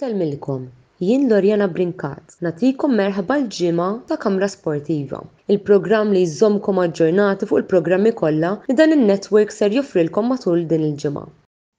Insellmilkom, jien Loriana Brincat, nagħtikom merħba l-ġimgħa ta' Kamra Sportiva, il-programm li jżommkom aġġornati fuq il-programmi kollha li dan in-network ser joffrilkom matul din il-ġimgħa.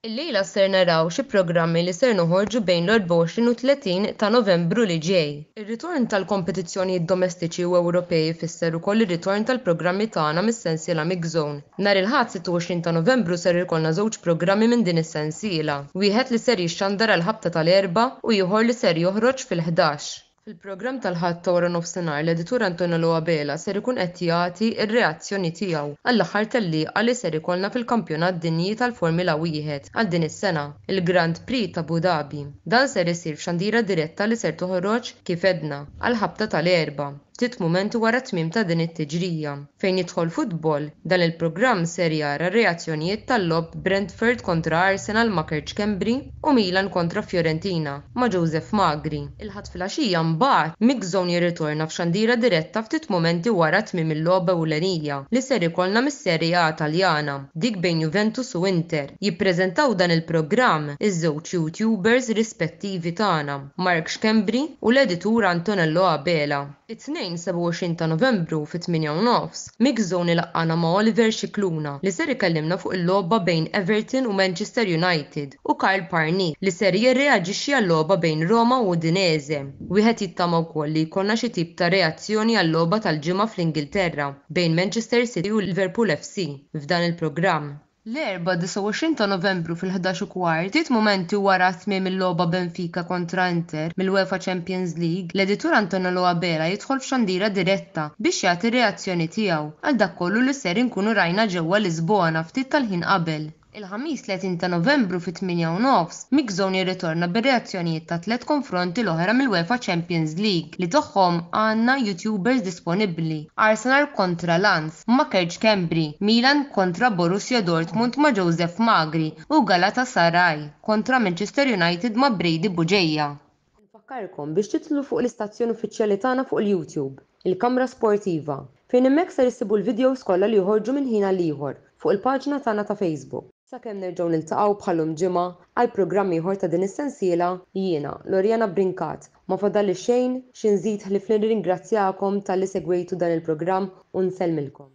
Illejla ser naraw xi programmi li ser noħorġu bejn l-24 u 30 ta' Novembru li ġej. Ir-ritorn tal-kompetizzjonijiet domestiċi u Ewropej ifisser ukoll ir-ritorn tal-programmi tagħna mis-sensiela Mixzone. Nhar il-Ħadd 26 ta' Novembru ser ikollna żewġ programmi minn din is-sensiela, wieħed li ser jixxandar għall-ħabta tal-erbgħa u ieħor li ser joħroġ fil-ħdax. Fil-programm tal-Ħadd ta' waranofsinhar l-editur Antonello Abela ser ikun qed jagħti r-reazzjoni tiegħu għall-aħħar tellieqa li ser ikollna fil-Kampjonat Dinji tal-Formula Wieħed għal din is-sena, il-Grand Prix t'Abu Dhabi. Dan ser isir f'xandira diretta li ser toħroġ, kif għedna, għall-ħabta tal-erbgħa, ftit mumenti wara t-tmiem ta' din it-tiġrija. Fejn jidħol futbol, dan il-programm ser jara r-reazzjonijiet tal-logħob Brentford kontra Arsenal ma' Kurt Schembri u Milan kontra Fiorentina ma' Joseph Magri. Il-Ħadd filgħaxija mbagħad, Mix Zone jirritorna f'xandira diretta ftit mumenti wara tmiem il-logħba ewlenija li ser ikollna mis-Serie A Taljana, dik bejn Juventus u Inter. Jippreżentaw dan il-programm iż-żewġ YouTubers rispettivi tagħna, Mark Schembri u l-editur Antonello Abela. It-Tnejn 27 ta' Novembru fit-tmienja u nofs, Mix Zone ilaqqagħna ma' Oliver Scicluna li ser ikellimna fuq il-logħba bejn Everton u Manchester United u Karl Parnis li ser jirreaġixxi għal-logħba bejn Roma u Udinese. Wieħed jittama wkoll li jkollna xi tip ta' reazzjoni għal-logħba tal-Ġimgħa fl-Ingilterra bejn Manchester City u Liverpool FC f'dan il-programm. L-Erbgħa 29 ta' Novembru fil-11 u kwart, ftit mumenti wara tmiem il-logħba Benfica kontra Inter mill-UEFA Champions League, l-editur Antonello Abela jidħol f'xandira diretta biex jagħti r-reazzjoni tiegħu għal dak kollu li ser inkunu rajna ġewwa Lisbona ftit tal-ħin qabel. Il-Ħamis 30 ta' Novembru fit-tmienja u nofs, Mixzone jirritorna bir-reazzjonijiet tat-tliet konfronti l-oħra mill-UEFA Champions League li tagħhom għandna YouTubers disponibbli, Arsenal kontra Lens, ma' Kurt Schembri, Milan kontra Borussia Dortmund ma' Joseph Magri u Galatasaray kontra Manchester United ma' Brady Bugeja. Infakkarkom biex tidħlu fuq l-istazzjon uffiċjali tagħna fuq il-YouTube, Il-Kamra Sportiva, fejn hemmhekk ser issibu l-videos kollha li joħorġu minn ħin għal ieħor fuq il-paġna tagħna ta' Facebook. Sakemm nerġgħu niltaqgħu bħal-lum ġimgħa għal programm ieħor ta' din is-sensiela, jiena, Loriana Brincat, ma fadalli xejn xi nżid ħlief li nirringrazzjakom talli segwejtu dan il-programm u nsellmilkom.